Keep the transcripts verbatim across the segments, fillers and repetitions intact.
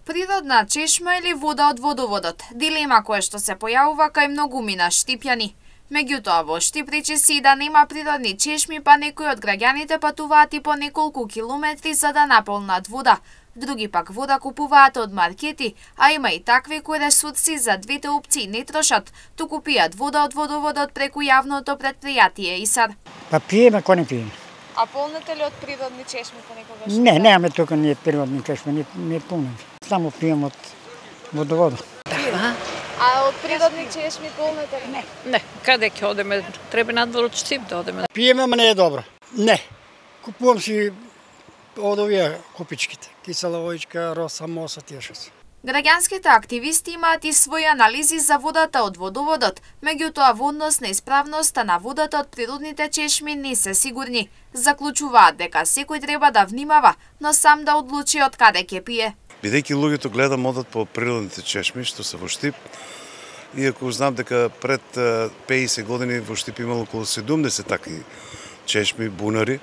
Природна чешма или вода од водоводот? Дилема која што се појавува кај многумина штипјани. Меѓутоа, во Штип речиси да нема природни чешми, па некои од граѓаните патуваат и по неколку километри за да наполнат вода. Други пак вода купуваат од маркети, а има и такви кои ресурси за двете опции не трошат, туку пијат вода од водоводот преку јавното предпријатие ИСАР. Па пиеме, кој не пиеме. А полнете ли од природни чешми понекогаш? Не, немаме тука ние природни чешми, не, не полнеме. Само пиеме од водоводот. Да. А од природни чешми полнете ли? Не. Не, каде ќе одеме? Треба надвор од Штип да одеме. Пиеме, ама не е добро. Не. Купувам си од овие купичките. Кисела воичка, роса, моса, тие што се. Граѓанските активисти имаат и своји анализи за водата од водоводот, меѓутоа во однос на исправноста на водата од природните чешми не се сигурни. Заклучуваат дека секој треба да внимава, но сам да одлучи од каде ќе пие. Бидејќи луѓето гледам одат по природните чешми што се во Штип, иако знам дека пред пеесет години во Штип имало околу седумдесет такви чешми, бунари,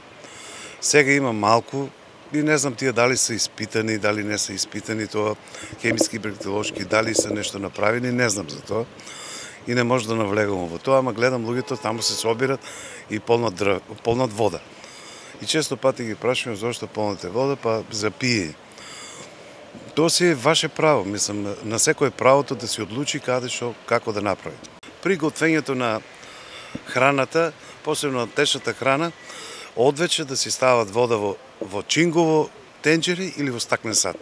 сега има малку. И не знам тие дали се испитани, дали не се испитани, тоа хемиски, бактериолошки, дали се нешто направени, не знам за тоа. И не може да навлегувам во тоа, ама гледам луѓето таму се собират и полнат, дрв... полнат вода. И често пати ги прашувам зошто полнате вода, па за пиење. Тоа си е ваше право, мислам, на секој правото да си одлучи каде што, како да направи. При готвењето на храната, посебно течната храна, одвече да си стават вода во, во чингово тенџери или во стаклен сат.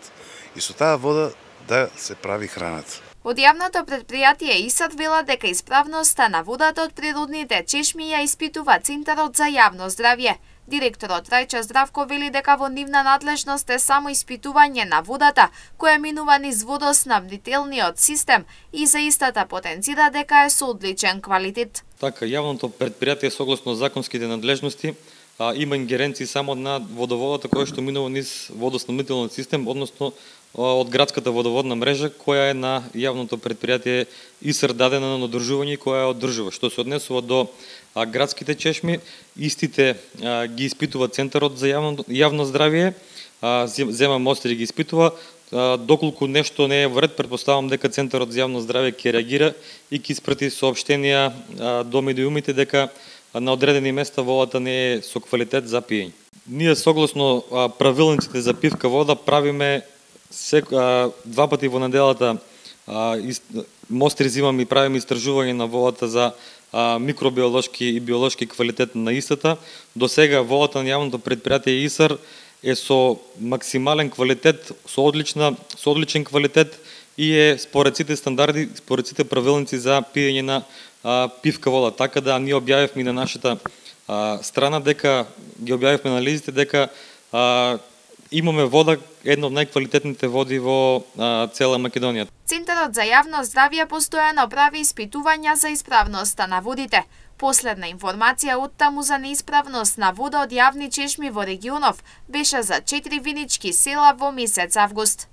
И со таа вода да се прави храната. Од јавното предпријатие ИСАР вела дека исправноста на водата од природните чешми ја испитува Центарот за јавно здравје. Директорот Рајче Здравко вели дека во нивна надлежност е само испитување на водата, која минува низ водоснабдителниот систем и за истата потенцира дека е со одличен квалитет. Така, јавното предпријатие согласно законските надлежности а, има ингеренции само на водоводата која што минува низ водоснабдителниот систем, односно од градската водоводна мрежа која е на јавното предпријатие ИСАР дадена на одржување и која е одржува. Што се однесува до а, градските чешми, истите а, ги испитува Центарот за јавно, јавно здравје, а, зема мостри ги испитува. А, доколку нешто не е во ред, претпоставам дека Центарот за јавно здравје ќе реагира и ќе испрати соопштенија а, до медиумите дека на одредени места водата не е со квалитет за пиење. Ние согласно а, правилниците за пивка вода правиме сек, а, два пати во неделата а, из, мостри зимаме и правиме истражување на водата за а, микробиолошки и биолошки квалитет на истата. До сега водата на јавното предпријатие ИСАР е со максимален квалитет, со одлична, со одличен квалитет и е според сите стандарди, според сите правилници за пиење на а, пивка вода. Така да ние објавивме на нашата а, страна дека ги објавивме анализите дека а, имаме вода, една од најквалитетните води во а, цела Македонија. Центарот за јавно здравје постојано прави испитувања за исправноста на водите. Последна информација од таму за неисправност на вода од јавни чешми во регионов беше за четири винички села во месец август.